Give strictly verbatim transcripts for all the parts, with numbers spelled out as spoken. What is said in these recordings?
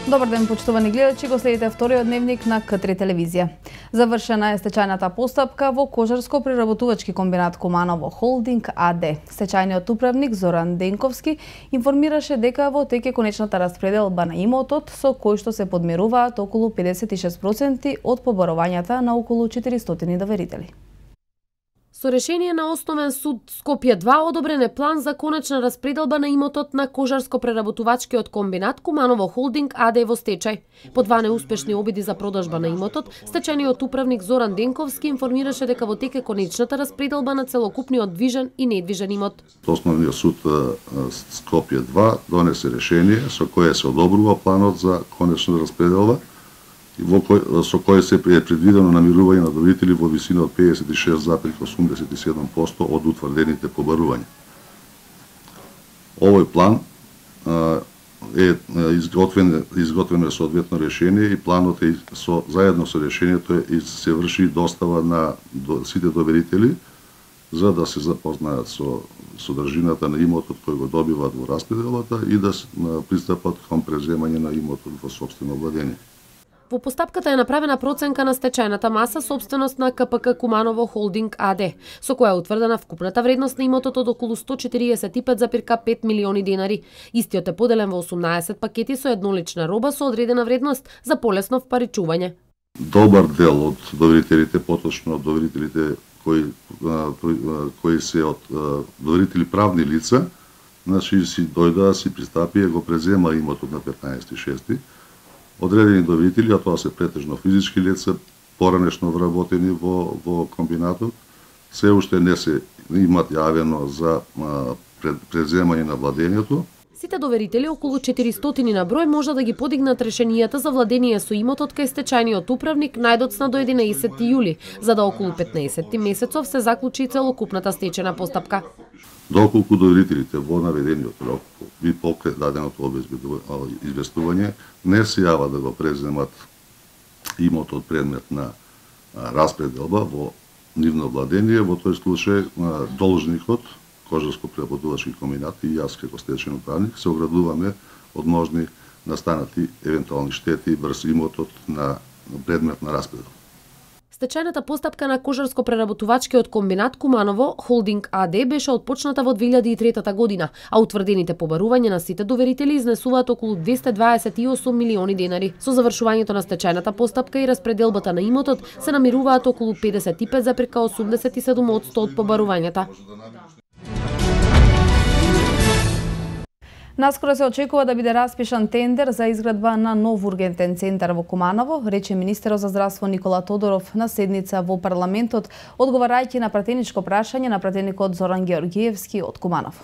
Добар ден, почитувани гледачи, го следите вториот дневник на К три телевизија. Завршена е стечајната постапка во Кожарско-преработувачки комбинат Куманово Холдинг АД. Стечајниот управник Зоран Денковски информираше дека во тек е конечната распределба на имотот, со кој што се подмеруваат околу педесет и шест проценти од побарувањата на околу четиристотини доверители. Со решение на Основен суд Скопје два одобрен е план за конечна распределба на имотот на Кожарско-преработувачкиот комбинат Куманово Холдинг АД во стечај. По два неуспешни обиди за продажба на имотот, стечајниот управник Зоран Денковски информираше дека во тек е конечната распределба на целокупниот движен и недвижен имот. Основниот суд Скопје два донесе решение со кое се одобрува планот за конечна распределба, во кој, со кој се е предвидено намирување на доверители во висина од педесет и шест зарез осумдесет и седум проценти од утврдените побарувања. Овој план е изготвен, изготвено е соодветно решение и планот е со заедно со решението е се врши достава на до, сите доверители за да се запознаат со содржината на имотот кој го добиваат во распределбата и да пристапат кон преземање на имотот во сопствено владење. Во постапката е направена проценка на стечајната маса собственост на К П К Куманово Холдинг АД, со која е утврдена вкупната вредност на имотот од околу сто четириесет и пет зарез пет милиони денари. Истиот е поделен во осумнаесет пакети со еднолична роба со одредена вредност за полесно впаричување. Добар дел од доверителите, поточно од доверителите кои кои се од доверители правни лица, значи си дојдоа, си пристапи и го презема имотот на петнаесети шести. Одредени доверители, а тоа се претежно физички лица, поранешно вработени во, во комбинатот, се уште не се имат јавено за а, преземање на владењето. Сите доверители, околу четиристотини на број, може да ги подигнат решенијата за владение со имотот кај стечајниот управник најдоцна до единаесетти јули, за да околу петнаесетти месецов се заклучи целокупната стечена постапка. Доколку доверителите во наведениот рок и покрај даденото известување не се јава да го преземат имотот предмет на распределба во нивно владение, во тој случај должникот, Кожарско-преработувачки комбинат и јас како стечајен управник се оградуваме од можни настанати евентуални штети врз имотот на предмет на распределба. Стечајната постапка на Кожарско-преработувачкиот комбинат Куманово Холдинг АД беше отпочната во две илјади и трета година, а утврдените побарувања на сите доверители изнесуваат околу двесте дваесет и осум милиони денари. Со завршувањето на стечајната постапка и распределбата на имотот се намируваат околу педесет и пет зарез осумдесет и седум проценти од побарувањата. Наскоро се очекува да биде распишан тендер за изградба на нов ургентен центар во Куманово, рече министерот за здравство Никола Тодоров на седница во парламентот, одговарајќи на пратеничко прашање на пратеникот Зоран Георгиевски од Куманово.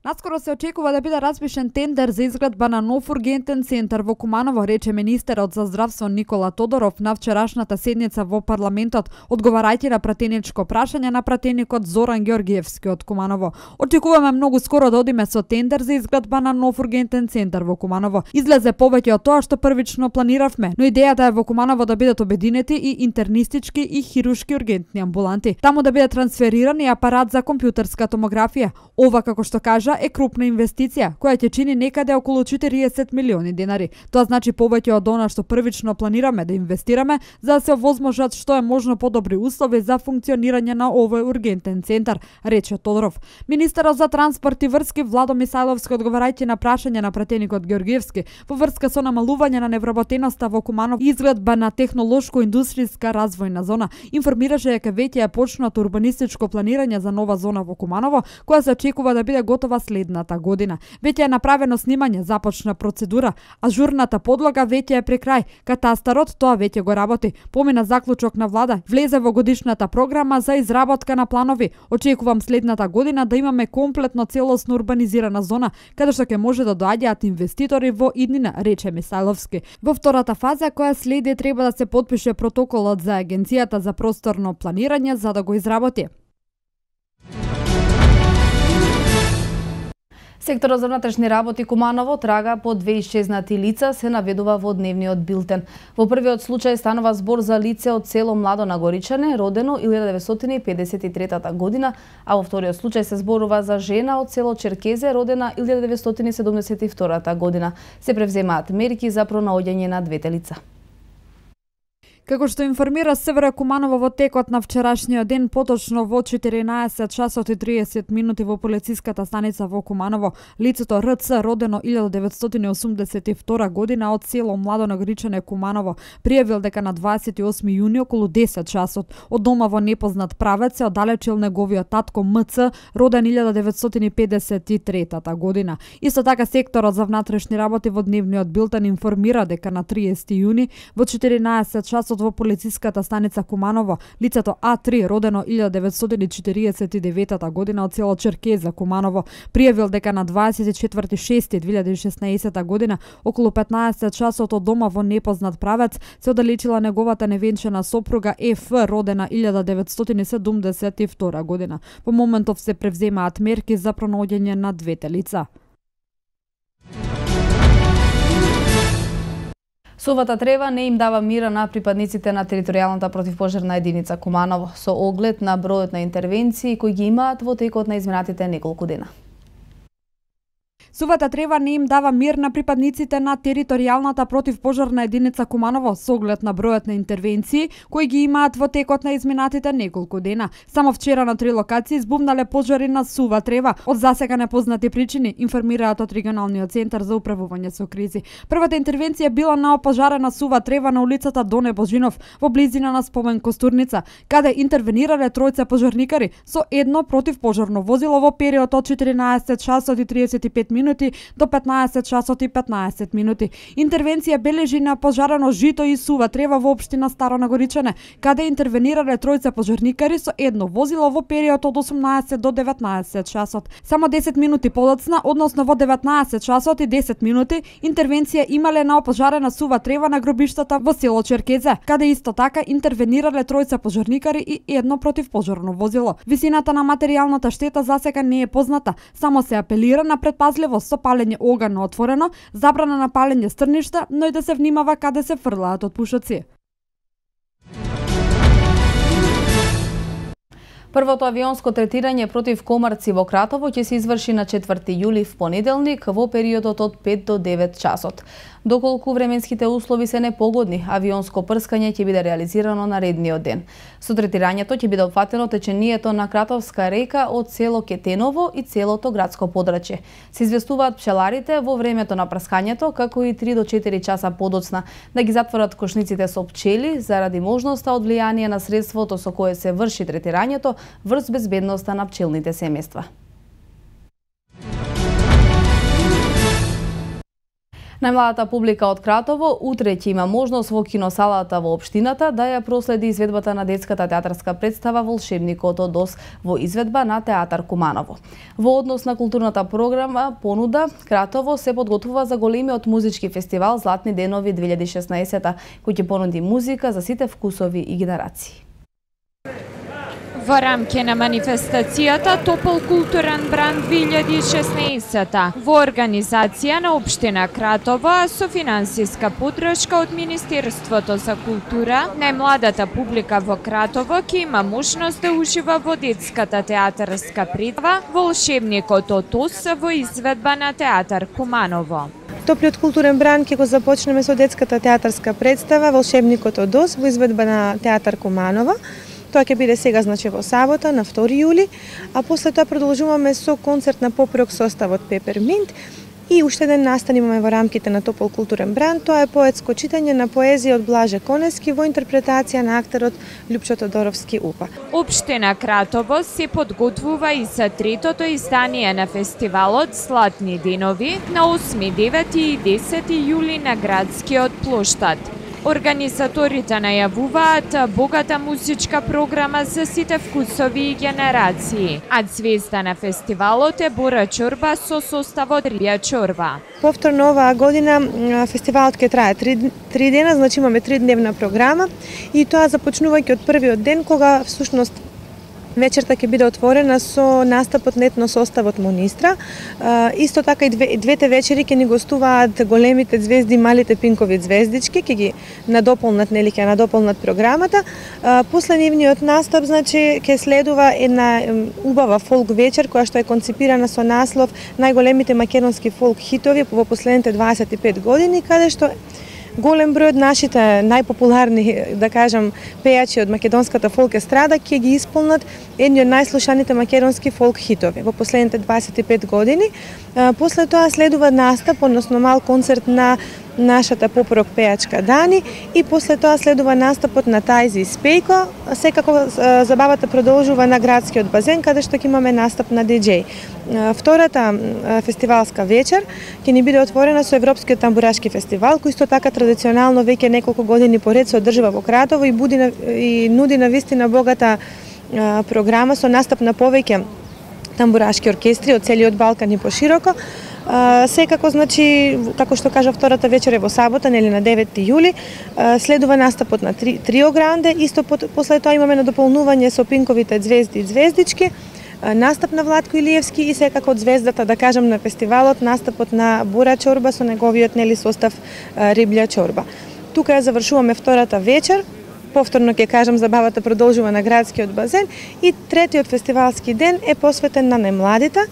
Наскоро се очекува да биде распишен тендер за изградба на нов ургентен центар во Куманово, рече министерот за здравство Никола Тодоров на вчерашната седница во парламентот, одговарајќи на пратеничко прашање на пратеникот Зоран Георгиевски од Куманово. Очекуваме многу скоро да одиме со тендер за изградба на нов ургентен центар во Куманово. Излезе повеќе од тоа што првично планиравме, но идејата е во Куманово да бидат обединети и интернистички и хирушки ургентни амбуланти. Таму да биде трансфериран и апарат за компјутерска томографија. Ова, како што кажа, е крупна инвестиција, која ќе чини некаде околу четириесет милиони денари. Тоа значи повеќе од она што првично планираме да инвестираме, за да се овозможат што е можно подобри услови за функционирање на овој ургентен центар, рече Тодоров. Министерот за транспорт и врски Владо Мисајловски, одговарајќи на прашање на пратеникот Георгиевски во врска со намалување на невработеноста во Куманово и изградба на технолошко-индустријска развојна зона, информираше дека веќе е почнато урбанистичко планирање за нова зона во Куманово, која се очекува да биде готова следната година. Веќе е направено снимање, започна процедура, ажурната подлога веќе е при крај. Катастарот тоа веќе го работи. Помина заклучок на влада, влезе во годишната програма за изработка на планови. Очекувам следната година да имаме комплетно целосно урбанизирана зона, каде што ќе може да доаѓаат инвеститори во иднина, рече Мисајловски. Во втората фаза која следи треба да се потпише протоколот за Агенцијата за просторно планирање за да го изработи. Секторот за внатрешни работи Куманово трага по две исчезнати лица, се наведува во дневниот билтен. Во првиот случај станува збор за лице од село Младо Нагоричане, родено илјада деветстотини педесет и трета година, а во вториот случај се зборува за жена од село Черкезе, родена илјада деветстотини седумдесет и втора година. Се превземаат мерки за пронаоѓање на двете лица. Како што информира СВР Куманово во текот на вчерашниот ден, поточно во четиринаесет часот и триесет минути во полициската станица во Куманово, лицето РЦ, родено илјада деветстотини осумдесет и втора година од село Младо Нагоричане, Куманово, пријавил дека на дваесет и осми јуни околу десет часот од дома во непознат правец се оддалечил неговиот татко МЦ, роден илјада деветстотини педесет и трета година. Исто така секторот за внатрешни работи во дневниот билтен информира дека на триесети јуни во четиринаесет часот во полициската станица Куманово, лицето А три, родено илјада деветстотини четириесет и девета година од село Черкеза, Куманово, пријавил дека на дваесет и четврти јуни две илјади и шеснаесета година околу петнаесет часот од дома во непознат правец се оддалечила неговата невенчана сопруга ЕФ, родена илјада деветстотини седумдесет и втора година. Во моментов се превземаат мерки за пронаоѓање на двете лица. Сувата трева не им дава мира на припадниците на територијалната противпожарна единица Куманово, со оглед на бројот на интервенции кои ги имаат во текот на изминатите неколку дена. Сувата трева не им дава мир на припадниците на територијалната противпожарна единица Куманово со оглед на бројот на интервенции кои ги имаат во текот на изминатите неколку дена. Само вчера на три локации избумнале пожари на сува трева од засега непознати причини, информираат од регионалниот центар за управување со кризи. Првата интервенција била на опожарена сува трева на улицата Доне Божинов во близина на Спомен Костурница, каде интервенирале тројца пожарникари со едно противпожарно возило во период од четиринаесет часот и триесет и пет минути до петнаесет часот и петнаесет минути. Интервенција бележи на пожарено жито и сува трева во општина Старо Нагоричане, каде интервенирале тројца пожарникари со едно возило во период од осумнаесет до деветнаесет часот. Само десет минути подоцна, односно во деветнаесет часот и десет минути, интервенција имале на опожарена сува трева на гробиштата во село Черкезе, каде исто така интервенирале тројца пожарникари и едно противпожарно возило. Висината на материјалната штета засега не е позната, само се апелира на предпазливост со палење оган на отворено, забрана на палење стрништа, но и да се внимава каде се фрлаат од пушоци. Првото авионско третирање против комарци во Кратово ќе се изврши на четврти јули в понеделник во периодот од пет до девет часот. Доколку временските услови се непогодни, авионско прскање ќе биде реализирано наредниот ден. Со третирањето ќе биде опфатено течението на Кратовска река од село Кетеново и целото градско подрачје. Се известуваат пчеларите во времето на прскањето, како и три до четири часа подоцна, да ги затворат кошниците со пчели заради можноста од влијание на средството со кое се врши третирањето врз безбедноста на пчелните семејства. Најмладата публика од Кратово утре ќе има можност во киносалата во општината да ја проследи изведбата на детската театарска представа Волшебникот од Оз во изведба на Театар Куманово. Во однос на културната програма понуда, Кратово се подготвува за големиот музички фестивал Златни денови две илјади и шеснаесета, кој ќе понуди музика за сите вкусови и генерации. Во рамки на манифестацијата Топол културен бранд две илјади и шеснаесета во организација на општина Кратово, а со финансиска поддршка од Министерството за култура, најмладата публика во Кратово ќе има можност да ужива во детската театарска представа Волшебникот од Оз во изведба на Театар Куманово. Топлиот културен бранд ќе го започнеме со детската театарска представа Волшебникот од Оз во изведба на Театар Куманово. Тоа ќе биде сега, значи, во сабота, на втори јули, а после тоа продолжуваме со концерт на поп-рок составот Пеперминт и уште еден настан имаме во рамките на Топол културен бранд. Тоа е поетско читање на поезија од Блаже Конески во интерпретација на актерот Лјупчо Тодоровски УПА. Општина Кратово се подготвува и за третото издание на фестивалот Златни денови на осми, девети и десети јули на градскиот плоштад. Организаторите најавуваат богата музичка програма за сите вкусови и генерации, а звезда на фестивалот е Бора Чорба со составот Рибја Чорба. Повторно оваа година фестивалот ќе трае три, три дена, значи имаме тридневна програма и тоа започнувајќи од првиот ден кога всушност вечерта ќе биде отворена со настапот на етно составот Монистра. Исто така и две, двете вечери ќе ни гостуваат големите звезди, малите пинкови звездички, ќе ги надополнат, нели ќе надополнат програмата. После нивниот настап, значи, ќе следува една убава фолк вечер која што е концепирана со наслов најголемите македонски фолк хитови во последните дваесет и пет години, каде што голем број од нашите најпопуларни, да кажам, пејачи од македонската фолк естрада ќе ги исполнат едни од најслушаните македонски фолк хитови во последните дваесет и пет години. После тоа следува настап, односно мал концерт на нашата поп-рок пејачка Дани и после тоа следува настапот на Тајзи Спејко. Секако забавата продолжува на градскиот базен, каде што ќе имаме настап на диџеј. Втората фестивалска вечер ќе ни биде отворена со Европскиот тамбурашки фестивал, кој исто така традиционално веќе неколку години поред се одржува во Кратово и буди и нуди на вистина богата програма со настап на повеќе тамбурашки оркестри од целиот Балкан и пошироко. Секако, значи, како што кажа, втората вечер е во сабота, нели на деветти јули, следува настапот на три, Трио Гранде, исто после тоа имаме надополнување со пинковите звезди и звездички, настап на Владко Илиевски и секако од звездата, да кажам, на фестивалот, настапот на Бура Чорба со неговиот, нели, состав Риблја Чорба. Тука ја завршуваме втората вечер. Повторно ќе кажам, забавата продолжува на градскиот базен и третиот фестивалски ден е посветен на најмладите,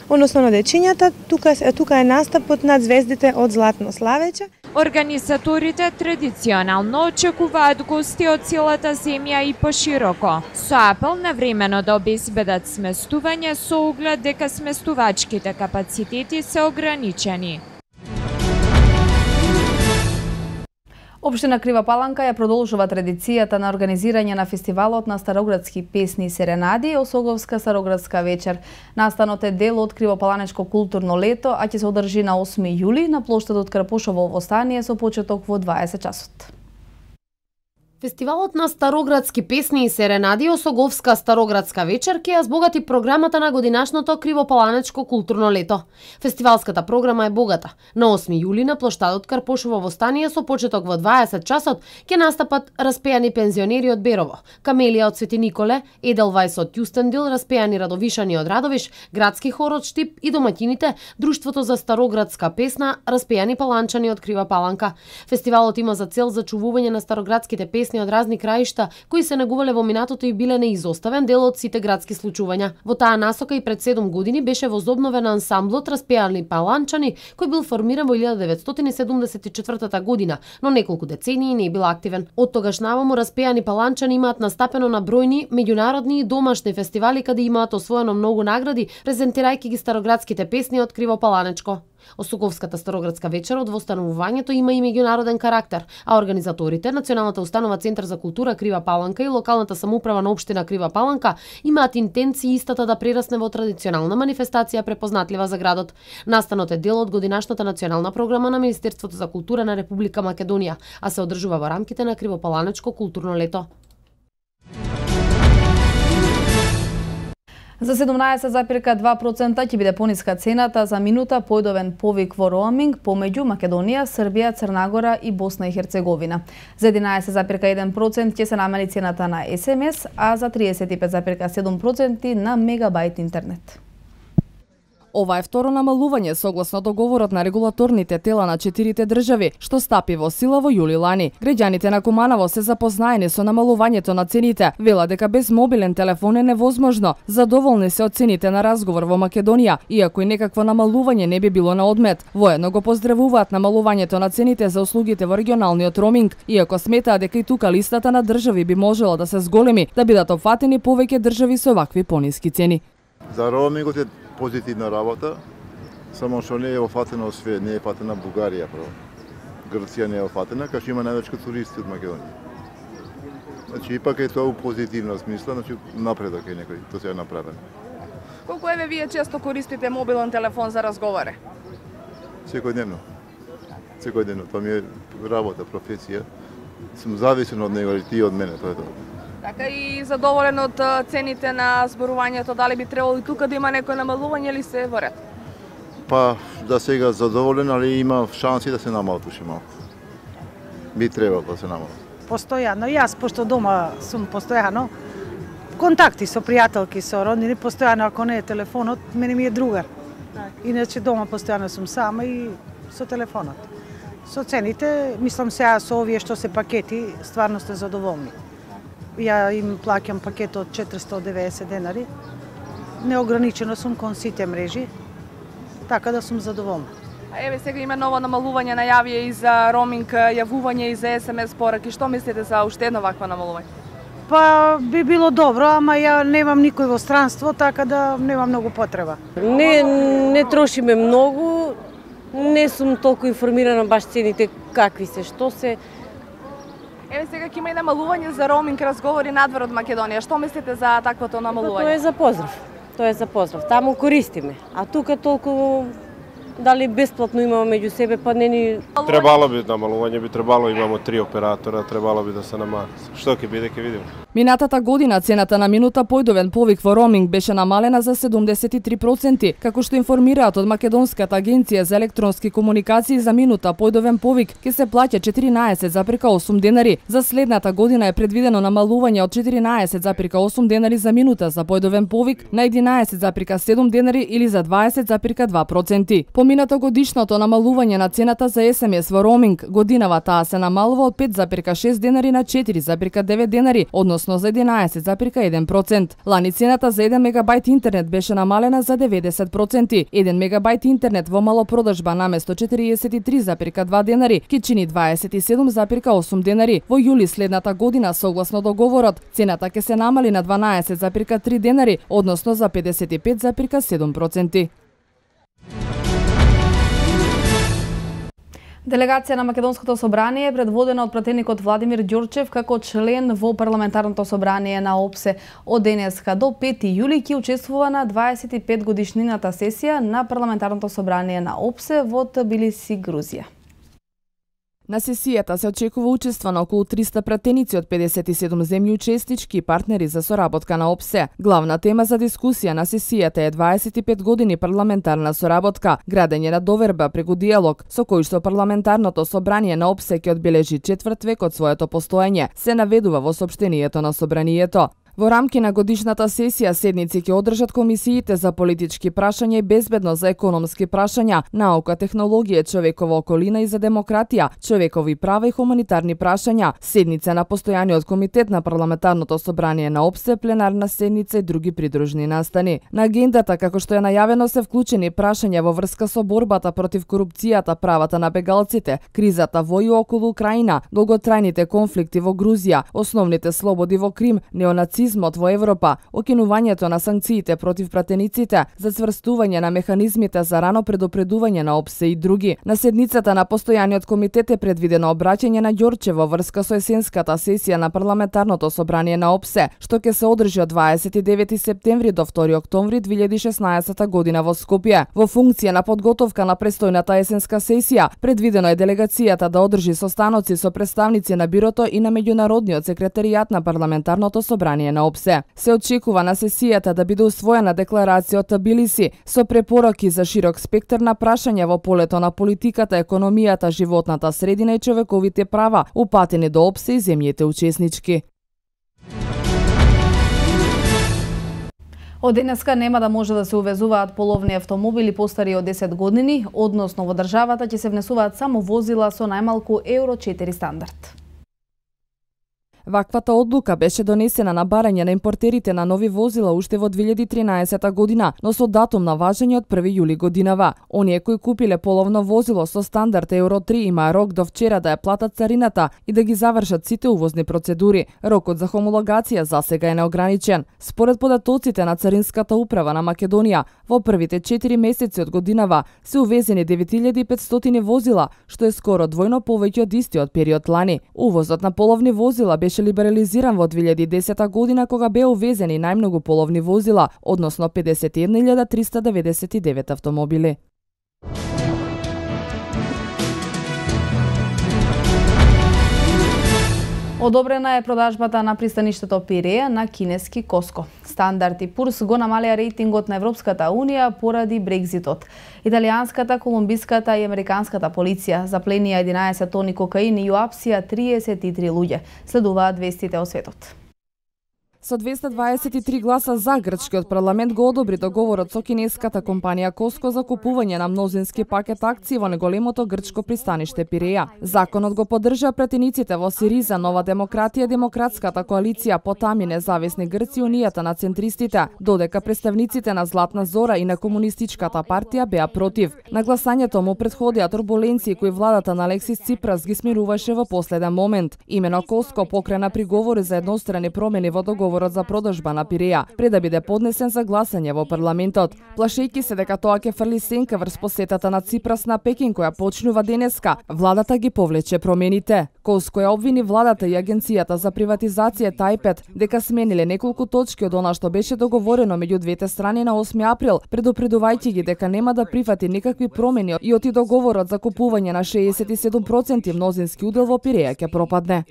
односно на дечињата. Тука, тука е настапот на звездите од Златно Славече. Организаторите традиционално очекуваат гости од целата земја и пошироко, со апел на времено да обезбедат сместување со оглед дека сместувачките капацитети се ограничени. Општина Крива Паланка ја продолжува традицијата на организирање на фестивалот на староградски песни и серенади Осоговска староградска вечер. Настанот е дел од Кривопаланечко културно лето, а ќе се одржи на осми јули на плоштадот Крапушово во Стание со почеток во дваесет часот. Фестивалот на староградски песни и серенади Осоговска староградска вечер ќе ја збогати програмата на годинашното Кривопаланечко културно лето. Фестивалската програма е богата. На осми јули на плоштадот Карпошово во Стание со почеток во дваесет часот ќе настапат распејани пензионери од Берово, Камелија од Свети Николе, Еделвајс од Јустендил, распејани Радовишани од Радовиш, градски хор од Штип и домаќините Друштвото за староградска песна, распејани паланчани од Крива Паланка. Фестивалот има за цел зачувување на староградските песни од разни краишта кои се негувале во минатото и биле неизоставен дел од сите градски случувања. Во таа насока и пред седум години беше возобновен ансамблот распејани паланчани кој бил формиран во илјада деветстотини седумдесет и четвртата година, но неколку децении не бил активен. Од тогаш наваму распејани паланчани имаат настапено на бројни меѓународни и домашни фестивали каде имаат освоено многу награди, презентирајќи ги староградските песни од Кривопаланечко. Осоговската староградска вечер од востановувањето има и меѓународен карактер, а организаторите, Националната установа Центар за култура Крива Паланка и локалната самоуправа на општина Крива Паланка имаат интенции истата да прерасне во традиционална манифестација препознатлива за градот. Настанот е дел од годинашната национална програма на Министерството за култура на Република Македонија, а се одржува во рамките на Кривопаланечко културно лето. За седумнаесет запирка два процента ќе биде пониска цената за минута појдовен повик во роаминг помеѓу Македонија, Србија, Црна Гора и Босна и Херцеговина. За единаесет запирка еден процент ќе се намали цената на ес ем ес, а за триесет и пет запирка седум проценти на мегабајт интернет. Ова е второ намалување согласно договорот на регулаторните тела на четирите држави, што стапи во сила во јули лани. Граѓаните на Куманово се запознаени со намалувањето на цените, вела дека без мобилен телефон е невозможно. Задоволни се од цените на разговор во Македонија, иако и некакво намалување не би било на одмет. Воедно го поздравуваат намалувањето на цените за услугите во регионалниот роуминг, иако сметаат дека и тука листата на држави би можела да се зголеми, да бидат опфатени повеќе држави со вакви пониски цени. За роумингот е позитивна работа, само што не е офатено све, не е фатена Бугарија, право. Грција не е офатена, кај што има највече туристи од Македонија. Значи, ипак е тоа у позитивна смисла, значи напредок е некој, тоа се е направено. Колку еве вие често користите мобилен телефон за разговори? Секојдневно. Секојдневно, тоа ми е работа, професија. Сум зависен од него, и ти од мене, тоа е тоа. Така и задоволен од цените на зборувањето, дали би требало и тука да има некој намалување или се во ред? Па, да сега задоволен, али има шанси да се намалат уште малку. Би требало да се намалат. Постојано, јас пошто дома сум постојано, контакти со пријателки, со роднини, постојано ако не е телефонот, мене ми е другар. Иначе дома постојано сум сама и со телефонот. Со цените, мислам сега со овие што се пакети, стварно сте задоволни. Ја им плаќам пакет од четиристо и деветдесет денари. Неограничено сум кон сите мрежи, така да сум задоволна. А еве сега има ново намалување најавија и за роминг, јавување и за ес ем ес пораки. Што мислите за уште едно вакво намалување? Па би било добро, ама ја немам никој во странство, така да немам многу потреба. Не, не трошиме многу, не сум толку информирана баш цените какви се, што се. Еве сега ќе има и намалување за роминг разговори надвор од Македонија. Што мислите за таквото намалување? Тоа е за поздрав. Тоа е за поздрав. Таму користиме. А тука толку дали бесплатно имаме меѓу себе, па не ни... Требало би намалување, би требало, имамо три оператора, требало би да се намали. Што ќе биде, ќе видиме. Минатата година цената на минута појдовен повик во роминг беше намалена за седумдесет и три проценти, како што информираат од Македонската агенција за електронски комуникации. За минута појдовен повик ќе се плаќа четиринаесет зарез осум денари. За следната година е предвидено намалување од четиринаесет зарез осум денари за минута за појдовен повик на единаесет зарез седум денари или за дваесет зарез два проценти. Поминато годишното намалување на цената за ес ем ес во роминг, годинава таа се намалува од пет зарез шест денари на четири зарез девет денари, односно за единаесет зарез еден процент. Лани цената за еден мегабајт интернет беше намалена за деветдесет проценти. еден мегабајт интернет во малопродажба наместо четириесет и три зарез два денари ќе чини дваесет и седум зарез осум денари. Во јули следната година, согласно договорот, цената ќе се намали на дванаесет зарез три денари, односно за педесет и пет зарез седум проценти. Делегација на Македонското собрание е предводена од пратеникот Владимир Ѓорчев како член во парламентарното собрание на ОПСЕ. Од денеска до пети јули ќе учествува на дваесет и пет годишнината сесија на парламентарното собрание на ОПСЕ во Тбилиси, Грузија. На сесијата се очекува учество на околу триста пратеници од педесет и седум земји учеснички и партнери за соработка на ОПСЕ. Главна тема за дискусија на сесијата е дваесет и пет години парламентарна соработка, градење на доверба преку диалог, со кој што парламентарното собрание на ОПСЕ ќе одбележи четврт век од своето постоење, се наведува во сопштенијето на собранието. Во рамки на годишната сесија седници ќе одржат комисиите за политички прашања и безбедност, за економски прашања, наука, технологија, човекова околина и за демократија, човекови права и хуманитарни прашања, седница на постојаниот комитет на парламентарното собрание на ОПСЕ, пленарна седница и други придружни настани. На агендата, како што е најавено, се вклучени прашања во врска со борбата против корупцијата, правата на бегалците, кризата во и околу Украина, долготрајните конфликти во Грузија, основните слободи во Крим, неонацизмот во Европа, окинувањето на санкциите против пратениците, зацврстување на механизмите за рано предупредување на ОПСЕ и други. На седницата на постојаниот комитет е предвидено обраќање на Ѓорчев во врска со есенската сесија на парламентарното собрание на ОПСЕ, што ќе се одржи од дваесет и девети септември до втори октомври две илјади и шеснаесетта година во Скопје. Во функција на подготовка на престојната есенска сесија, предвидено е делегацијата да одржи состаноци со представници на бирото и на меѓународниот секретаријат на парламентарното собрание на ОПСЕ. Се очекува на сесијата да биде усвоена декларација од Тбилиси со препораки за широк спектар на прашања во полето на политиката, економијата, животната средина и човековите права, упатени до ОПСЕ и земјите учеснички. Од денеска нема да може да се увезуваат половни автомобили постари од десет години, односно во државата ќе се внесуваат само возила со најмалку Евро четири стандард. Ваквата одлука беше донесена на барање на импортерите на нови возила уште во две илјади и тринаесетта година, но со датум на важење од први јули годинава. Оние кои купиле половно возило со стандард Евро три има рок до вчера да ја платат царината и да ги завршат сите увозни процедури. Рокот за хомологација засега е неограничен. Според податоците на Царинската управа на Македонија, во првите четири месеци од годинава се увезени девет илјади и петстотини возила, што е скоро двојно повеќе од истиот период лани. Увозот на половни возила беше беше либерализиран во две илјади и десета година, кога беа увезени најмногу половни возила, односно педесет и една илјада триста деветдесет и девет автомобили. Одобрена е продажбата на пристаништето Пиреја на кинески Коско. Стандард и Пурс го намалија рейтингот на Европската Унија поради Брекзитот. Италијанската, колумбиската и американската полиција запленија единаесет тони кокаин и ја апсија триесет и три луѓе. Следуваат вестите од светот. Со двесте дваесет и три гласа за, грчкиот парламент го одобри договорот со кинеската компанија Коско за купување на мнозински пакет акции во неголемото грчко пристаниште Пиреја. Законот го поддржа претениците во Сириза, Нова демократија, Демократската коалиција, Потами, Независни Грци, Унијата на центристите, додека представниците на Златна Зора и на Комунистичката партија беа против. На гласањето му претходија турбуленции кои владата на Алексис Ципрас ги смируваше во последен момент. Имено Коско покрена приговори за еднострани промени во договорот за продажба на Пиреја, пред да биде поднесен за гласање во парламентот. Плашејќи се дека тоа ќе фрли сенка врз посетата на Ципрас на Пекин која почнува денеска, владата ги повлече промените. Коско ја обвини владата и агенцијата за приватизација Тајпет дека смениле неколку точки од она што беше договорено меѓу двете страни на осми април, предупредувајќи ги дека нема да прифати никакви промени и оти договорот за купување на шеесет и седум проценти мнозински удел во Пиреја ќе пропадне.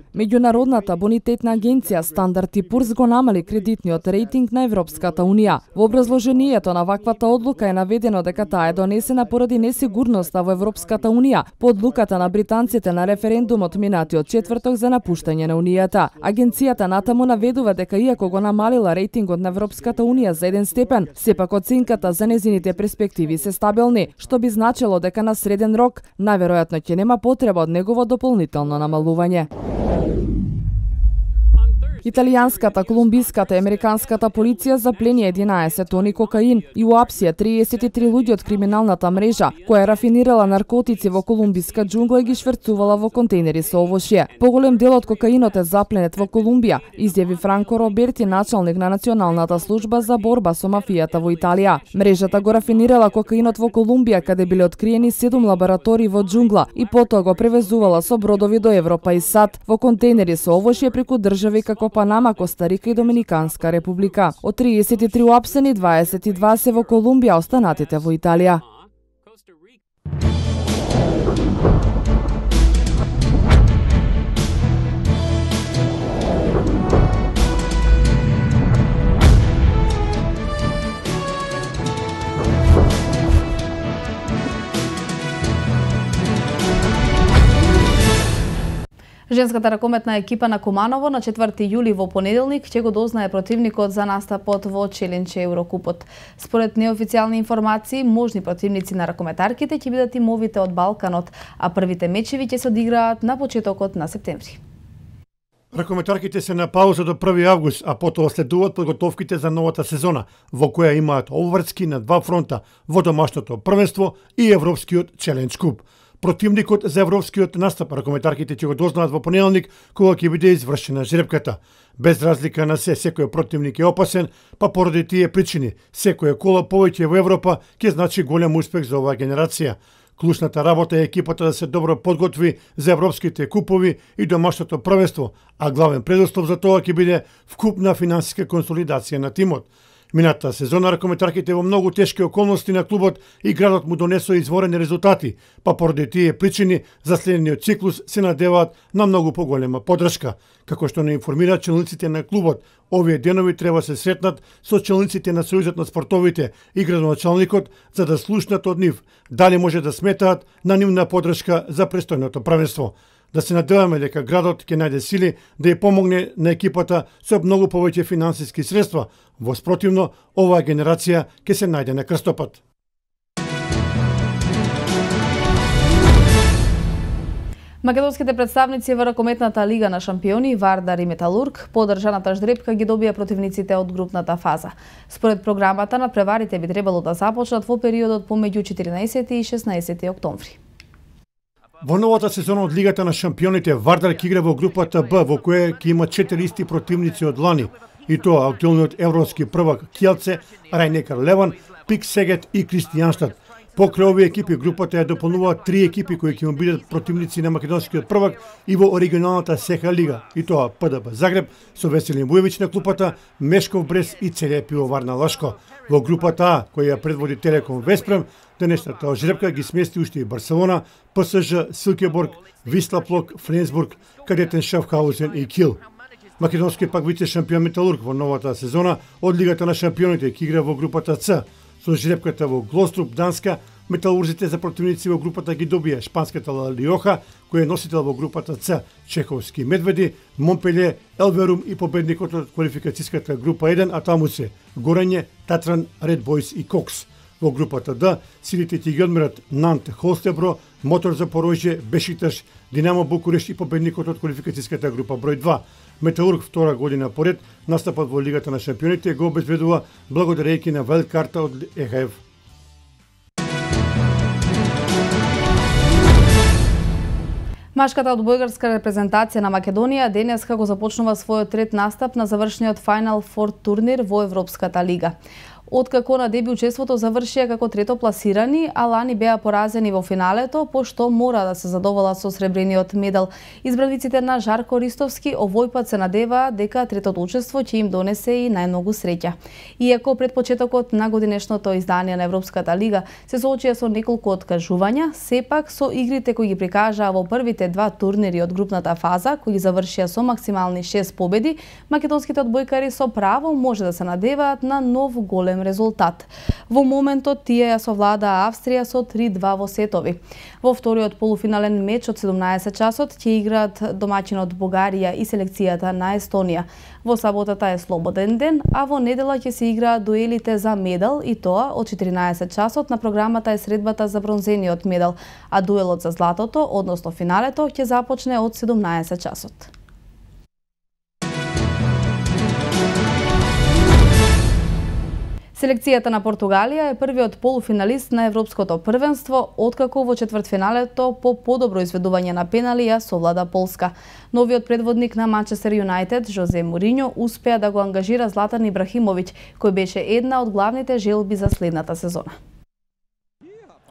Меѓународната бонитетна агенција Стандард и Пурс го намали кредитниот рейтинг на Европската Унија. Во образложението на ваквата одлука е наведено дека таа е донесена поради несигурноста во Европската Унија по одлуката на британците на референдумот минатиот четврток за напуштање на Унијата. Агенцијата натаму наведува дека иако го намалила рейтингот на Европската Унија за еден степен, сепак оценката за незините перспективи се стабилни, што би значило дека на среден рок најверојатно ќе нема потреба од негово дополнително намалување. Италијанската, колумбиската и американската полиција заплени единаесет тони кокаин и уапсија триесет и три луѓе од криминалната мрежа, која рафинирала наркотици во колумбиска џунгла и ги шверцувала во контейнери со овошје. Поголем дел од кокаинот е запленет во Колумбија, изјави Франко Роберти, началник на Националната служба за борба со мафијата во Италија. Мрежата го рафинирала кокаинот во Колумбија, каде биле откриени седум лаборатории во џунгла и потоа го превезувала со бродови до Европа и САД во контейнери со овошје преку држави како Панама, Коста Рика и Доминиканска република. Од триесет и три уапсени, дваесет и два се во Колумбија, останатите во Италија. Женската ракометна екипа на Куманово на четврти јули во понеделник ќе го дознае противникот за настапот во Челенче Еврокупот. Според неофицијални информации, можни противници на ракометарките ќе бидат тимовите од Балканот, а првите мечеви ќе се одиграат на почетокот на септември. Ракометарките се на пауза до први август, а потоа следуваат подготовките за новата сезона, во која имаат обврски на два фронта, во домашното првенство и Европскиот Челендж Куп. Противникот за европскиот настап ракометарките ќе го дознаат во понеделник, кога ќе биде извршена жребката. Без разлика на се, секој противник е опасен, па поради тие причини, секоја кола повеќе во Европа ќе значи голем успех за оваа генерација. Клучната работа е екипата да се добро подготви за европските купови и домашното првенство, а главен предуслов за тоа ќе биде вкупна финансиска консолидација на тимот. Минатата сезона ракометарките во многу тешки околности на клубот и градот му донесоа изворени резултати, па поради тие причини за следниот циклус се надеваат на многу поголема поддршка. Како што не информираат челниците на клубот, овие денови треба се сретнат со челниците на Сојузот на спортовите и градоначалникот за да слушнат од нив дали може да сметаат на нивна поддршка за престојното првенство. Да се надеваме дека градот ќе најде сили да ја помогне на екипата со многу повеќе финансиски средства. Во спротивно, оваа генерација ќе се најде на крстопат. Македонските представници во ракометната лига на шампиони Вардар и Металург по одржаната ждрепка ги добија противниците од групната фаза. Според програмата на преварите би требало да започнат во периодот помеѓу четиринаесети и шеснаесети октомври. Во новата сезона од Лигата на шампионите Вардар ќе игра во групата Б, во која ќе има четири исти противници од лани, и тоа актуелниот европски првак Кјелце, Рајнекар Леван, Пик Сегет и Кристијанштад. Покрај овие екипи групата ја дополнуваат три екипи кои ќе му бидат противници на македонскиот првак и во оригиналната СЕХА лига, и тоа ПДБ Загреб со Веселин Вујевиќ на клупата, Мешков Брест и ЦД Пивоварна Лашко. Во групата А, која ја предводи Телеком Веспрем, денешната жребка ги смести уште и Барселона, ПСЖ, Силкеборг, Висла Плок, Фленсбург, Кадетен Шафхаузен и Кил. Македонскиот пак вице шампион Металург во новата сезона од Лигата на шампионите ќе игра во групата С Со жребката во Глоструп, Данска, металурзите за противници во групата ги добија шпанската Ла Лиоха, кој е носител во групата Ц, чеховски Медведи, Монпеле, Елверум и победникот од квалификацијската група еден, а таму се Горење, Татран, Ред Бойс и Кокс. Во групата Д, силите ќе ги одмерат Нант, Холстебро, Мотор Запорожје, Бешикташ, Динамо Букуреш и победникот од квалификацијската група број два. Металург втора година поред настапот во Лигата на шампионите го обезбедува благодарејќи на вајлдкарта од Е Х Ф. Машката одбојгарска репрезентација на Македонија денеска го започнува својот трет настап на завршниот Final Four турнир во Европската лига. Откако на деби учеството завршија како трето пласирани, а лани беа поразени во финалето, пошто мора да се задоволат со сребрениот медал. Избраниците на Жарко Ристовски овој пат се надеваат дека третото учество ќе им донесе и најмногу среќа. Иако пред почетокот на годинешното издание на Европската лига се соочија со неколку откажувања, сепак со игрите кои ги прикажаа во првите два турнири од групната фаза, кои ги завршија со максимални шест победи, македонските одбојкари со право може да се надеваат на нов голем резултат. Во моментот тие ја совладаа Австрија со три два во сетови. Во вториот полуфинален меч од седумнаесет часот ќе играат домаќинот Бугарија и селекцијата на Естонија. Во саботата е слободен ден, а во недела ќе се играат дуелите за медал и тоа од четиринаесет часот. На програмата е средбата за бронзениот медал, а дуелот за златото, односно финалето, ќе започне од седумнаесет часот. Селекцијата на Португалија е првиот полуфиналист на Европското првенство, откако во четвртфиналето по подобро изведување на пенали ја совлада Полска. Новиот предводник на Манчестер Юнајтед, Жозе Мориньо, успеа да го ангажира Златан Ибрахимовиќ, кој беше една од главните желби за следната сезона.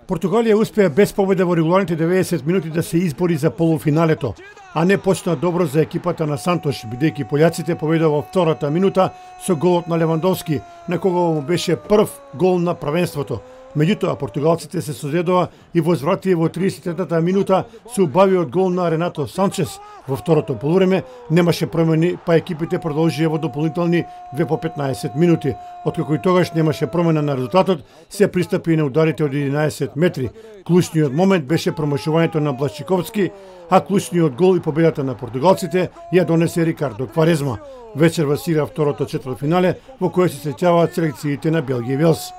Португалија успеа без победа во регуларните деветдесет минути да се избори за полуфиналето, а не почна добро за екипата на Сантош, бидејќи пољаците победија во втората минута со голот на Левандовски, на кого му беше прв гол на првенството. Меѓутоа, португалците се созедоа и возвратија во триесет и третата минута со убавиот гол на Ренато Санчес. Во второто полувреме немаше промени, па екипите продолжија во дополнителни две по петнаесет минути. Откако и тогаш немаше промена на резултатот, се пристапи на ударите од единаесет метри. Клучниот момент беше промашувањето на Блашчиковски, а клучниот гол и победата на португалците ја донесе Рикардо Кварезма. Вечерва се игра второто четвртфинале во кое се среќаваат селекциите на Белгија и Велс.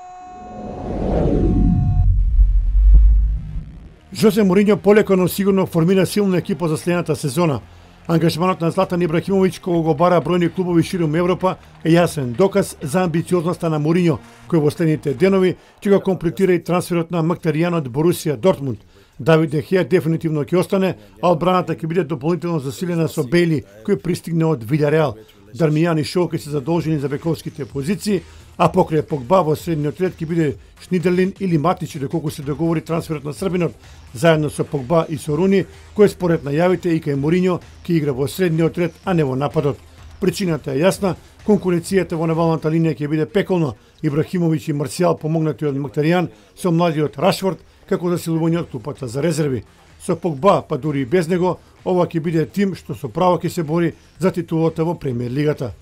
Жозе Мориньо полеко, но сигурно формира силна екипа за следната сезона. Ангажманот на Златан Ибрахимовиќ, кога го бара бројни клубови широм Европа, е јасен доказ за амбициозноста на Мориньо, кој во следните денови ќе го комплетира и трансферот на Мактаријан од Борусија Дортмунд. Давид Де Хеа дефинитивно ќе остане, а одбраната ќе биде дополнително засилена со Бейли, кој пристигне од Вилјареал. Дармијан и Шоу ќе се задолжени за бековските позиции, а покрај Погба во средниот ред ќе биде Шнидерлин или Матич, доколку се договори трансферот на србинот заедно со Погба и со Руни, кој според најавите и кај Мориньо ќе игра во средниот ред, а не во нападот. Причината е јасна, конкуренцијата во навалната линија ќе биде пеколна. Ибрахимовиќ и Марсијал помогнати од Мактаријан со младиот Рашфорд како засилување од клупата за резерви. Со Погба, па дури и без него, ова ќе биде тим што со право ќе се бори за титулата во Премиер лигата.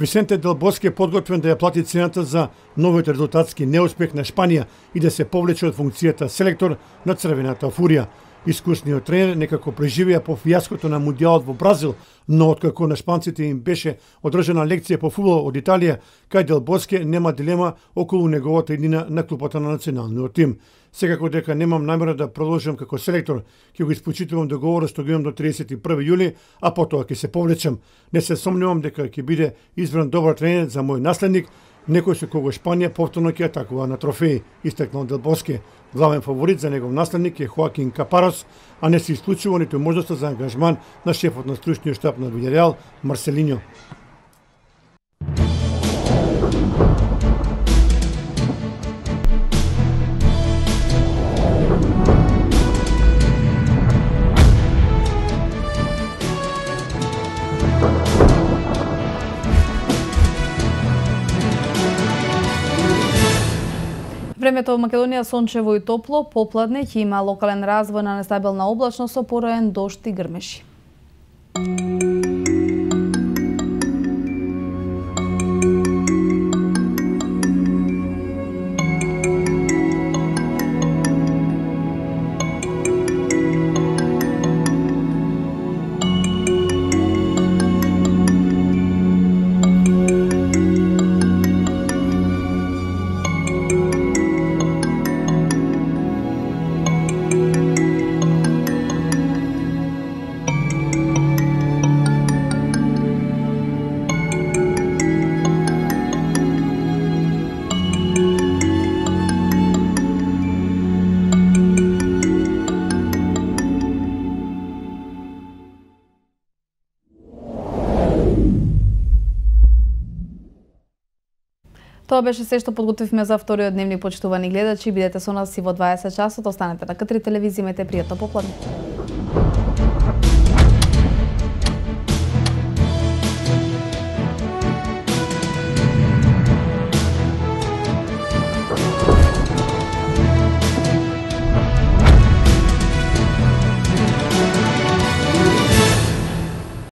Висенте Дел Боске е подготвен да ја плати цената за новиот резултатски неуспех на Шпанија и да се повлече од функцијата селектор на Црвената фурија. Искусниот тренер некако преживеа по фијаското на Мундијалот во Бразил, но откако на шпанците им беше одржана лекција по фудбал од Италија, кај Дел Боске нема дилема околу неговата иднина на клупата на националниот тим. Секако дека немам намера да продолжам како селектор, ќе го испочитувам договорот што го имам до триесет и први јули, а потоа ќе се повлечам. Не се сомневам дека ќе биде избран добар тренер за мој наследник, некој со кого Шпанија повторно ќе атакува на трофеи, истакнал Дел Боске. Главен фаворит за негов наследник е Хоакин Капарос, а не се исклучува ниту можноста за ангажман на шефот на стручниот штаб на Вилјареал, Марселиньо. Времето во Македонија сончево и топло, попладне ќе има локален развој на нестабилна облачност со пороен дожд и грмеши. Тоа беше се што подготвивме за вториот дневник, почитувани гледачи. Бидете со нас и во дваесет часот. Останете на К три телевизија, имете пријатно попладне.